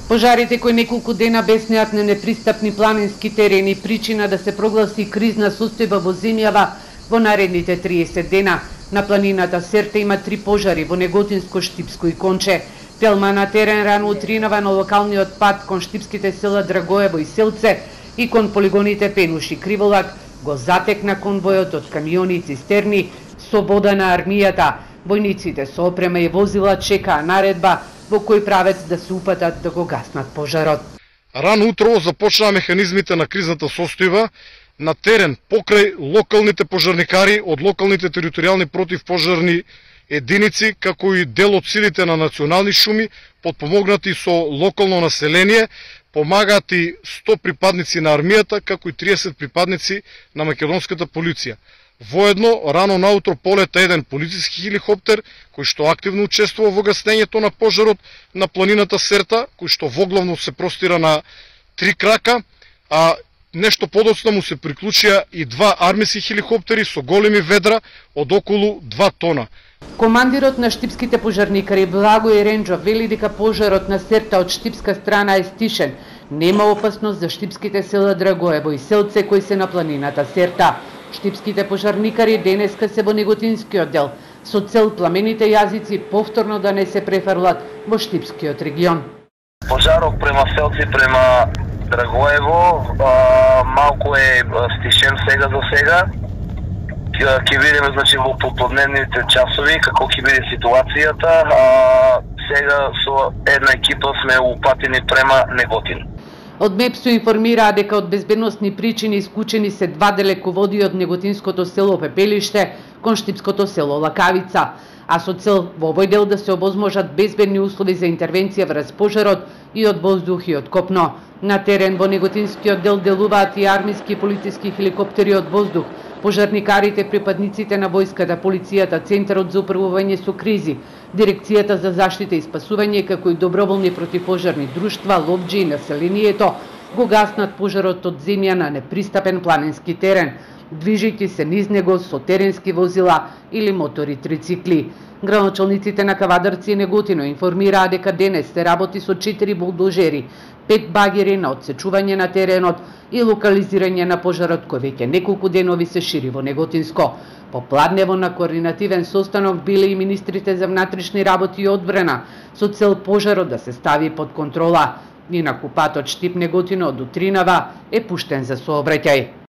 Пожарите кои неколку дена беснеат на непристапни планински терени причина да се прогласи кризна состојба во земјава во наредните 30 дена. На планината Серта има 3 пожари во Неготинско, Штипско и Конче. Телма на терен рано утринава на локалниот пат кон штипските села Драгоево и Селце и кон полигоните Пенуш и Криволак го затекна конвојот од камиони и цистерни со вода на армијата. Војниците со опрема и возила чекаа наредба во кој правец да се упатат да го гаснат пожарот. Рано утро започнаа механизмите на кризната состојба на терен покрај локалните пожарникари од локалните територијални противпожарни единици, како и дел од силите на национални шуми, подпомогнати со локално население, помагаат и 100 припадници на армијата, како и 30 припадници на македонската полиција. Воедно, рано наутро полета еден полициски хеликоптер, кој што активно учествува во гаснењето на пожарот на планината Серта, кој што воглавно се простира на 3 крака, а нешто подоцна му се приклучија и 2 армиски хеликоптери со големи ведра од околу 2 тона. Командирот на штипските пожарникари Благој Ренџов вели дека пожарот на Серта од штипска страна е стишен. Нема опасност за штипските села Драгоево и Селце кои се на планината Серта. Штипските пожарникари денеска се во Неготинскиот дел со цел пламените јазици повторно да не се префрлат во штипскиот регион. Пожарот према Селци, према Драгоево малку е стишен сега за сега. Ќе видиме значи во попладневните часови како ќе биде ситуацијата. Сега со една екипа сме упатени према Неготин. Од МЕПСО информираа дека од безбедносни причини исклучени се 2 далеководи од Неготинското село Пепелиште кон штипското село Лакавица, а со цел во овој дел да се овозможат безбедни услови за интервенција врз пожарот и од воздух и од копно. На терен во Неготинскиот дел делуваат и армиски и полициски хеликоптери од воздух, пожарникарите, припадниците на војската, полицијата, Центарот за управување со кризи, Дирекцијата за заштита и спасување, како и доброволни противпожарни друштва, ловџи и населението го гаснат пожарот од земја на непристапен планински терен, движејќи се низ него со теренски возила или мотори трицикли. Градоначалниците на Кавадарци и Неготино информираа дека денес се работи со 4 булдозери, 5 багери на одсечување на теренот и локализирање на пожарот кој веќе неколку денови се шири во Неготинско. Попладнево на координативен состанок биле и министрите за внатрешни работи и одбрана со цел пожарот да се стави под контрола. Инаку патот Штип Неготино од утринава е пуштен за сообраќај.